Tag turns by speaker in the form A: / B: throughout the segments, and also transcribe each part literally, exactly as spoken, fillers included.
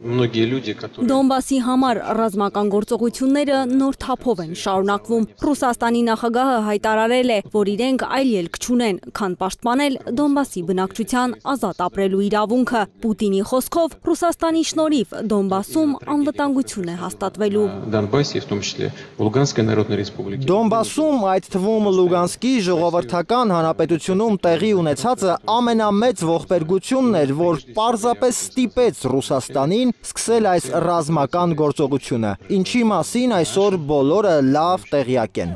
A: Դոնբասի համար ռազմական գործողությունները նոր թափով են շարունակվում։ Ռուսաստանի նախագահը հայտարարել է, որ իրենք այլ ելք չունեն, քան պաշտպանել Դոնբասի բնակչության ազատ ապրելու իրավունքը։ Պուտինի խոսքով Ռուսաստանի շնորհիվ Դոնբասում անվտանգություն է հաստատվելու։
B: Դոնբասում, այդ թվում Լուգանսկի ժողովրդական հանրապետությունում տեղի ունեցածը ամենամեծ ողբերգությունն էր, որ պարզապես ստիպեց Ռուսաստանին սկսել այս ռազմական գործողությունը, ինչի մասին այսօր բոլորը լավ տեղյակ են։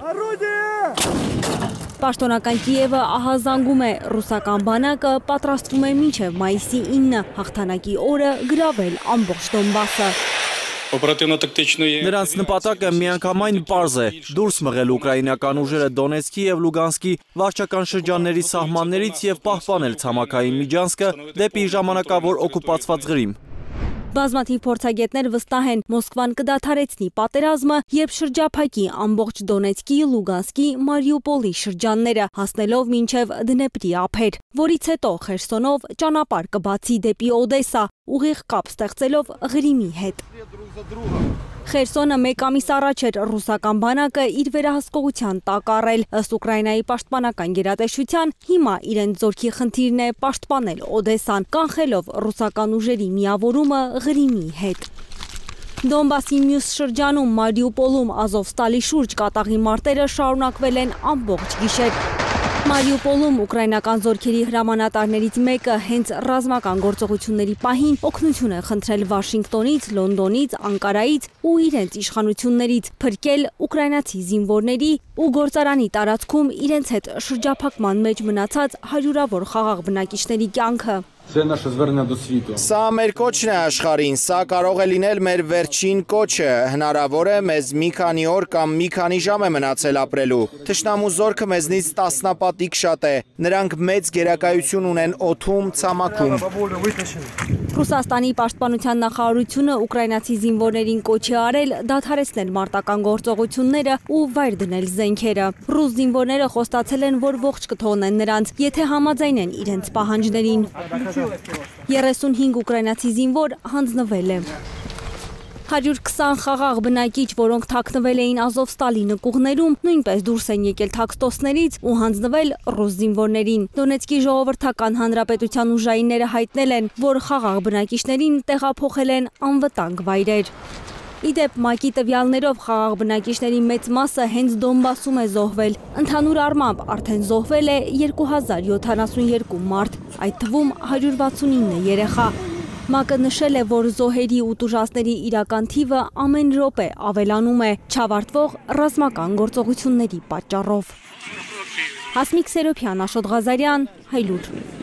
A: Պաշտոնական Կիևը ահազանգում է, ռուսական բանակը պատրաստվում է մինչև մայիսի ինը հաղթանակի օրը գրավել ամբողջ Դոնբասը։
C: Նրանց նպատակը միանգամայն պարզ է՝ դուրս մղել ուկրաինական ուժերը Դոնեցկի և Լուգանսկի վարչական շրջանների սահմաններից և պահպանել ցամաքային միջանցքը դեպի ժամանակավոր օկուպացված Ղրիմ։
A: Բազմաթիվ փորձագետներ վստահ են, Մոսկվան կդադարեցնի պատերազմը, երբ շրջափակի ամբողջ Դոնեցկի, Լուգանսկի, Մարիուպոլի շրջանները, հասնելով մինչև Դնեպրի ափեր, որից հետո Խերսոնով ճանապարհ կբացի դեպի Օդեսա, ուղիղ կապ ստեղծելով Ղրիմի հետ։ Խերսոնը մեկ ամիս առաջ էր ռուսական բանակը իր վերահսկողության տակ առել, ըստ Ուկրաինայի պաշտպանական գերատեսչության, հիմա իրենց զորքի խնդիրն է պաշտպանել Օդեսան, կանխելով ռուսական ուժերի միավորումը Ղրիմի հետ։ Դոնբասի մյուս շրջանում Մարիուպոլում Ազովստալի շուրջ կատաղի մարտերը շարունակվել են ամբողջ գիշեր։ Մարիուպոլում ուկրաինական զորքերի հրամանատարներից մեկը հենց ռազմական գործողությունների պահին օգնություն է խնդրել Վաշինգտոնից, Լոնդոնից, Անկարայից ու իրենց իշխանություններից փրկել ուկրաինացի զինվորների ու գործարանի տարածքում իրենց հետ շրջափակման մեջ մնացած հարյուրավոր խաղաղ բնակիչների կյանքը։
B: Սա մեր կոչն է աշխարհին, սա կարող է լինել մեր վերջին կոչը, հնարավոր է մեզ մի քանի օր կամ մի քանի ժամ է մնացել ապրելու։ Թշնամու զորքը մեզնից տասնապատիկ շատ է, նրանք մեծ գերակայություն ունեն օդում, ցամաքում։
A: Ռուսաստանի պաշտպանության նախարարությունը ուկրաինացի զինվորներին կոչ է արել դադարեցնել մարտական գործողությունները ու վայր դնել զենքերը։ Ռուս զինվորները խոստացել են, որ ողջ կթողնեն նրանց, եթե համաձայնեն իրենց պահանջներին։ երեսունհինգ ուկրաինացի զինվոր հանձնվել է։ հարյուր քսան խաղաղ բնակիչ, որոնք թաքնվել էին Ազովստալի նկուղներում, նույնպես դուրս են եկել թաքստոցներից ու հանձնվել ռուս զինվորներին։ Դոնեցկի ժողովրդական հանրապետության ուժայինները հայտնել են, որ խաղաղ բնակիչներին տեղափոխել են անվտանգ վայրեր։ Իդեպ ՄԱԿ-ի տվյալներով խաղաղ բնակիչների մեծ մասը հենց Դոնբասում է զոհվել։ Ընդհանուր առմամբ արդեն զոհվել է երկու հազար յոթանասունյոթ մարդ, այդ թվում հարյուր վաթսունինը երեխա։ ՄԱԿ-ը նշել է, որ զոհերի ու տուժածների իրական թիվը ամեն րոպե ավելանում է չավարտվող ռազմական գործողությունների պատճառով։ Հասմիկ Սերոփյան, Աշոտ Ղազարյան, Հայլուր։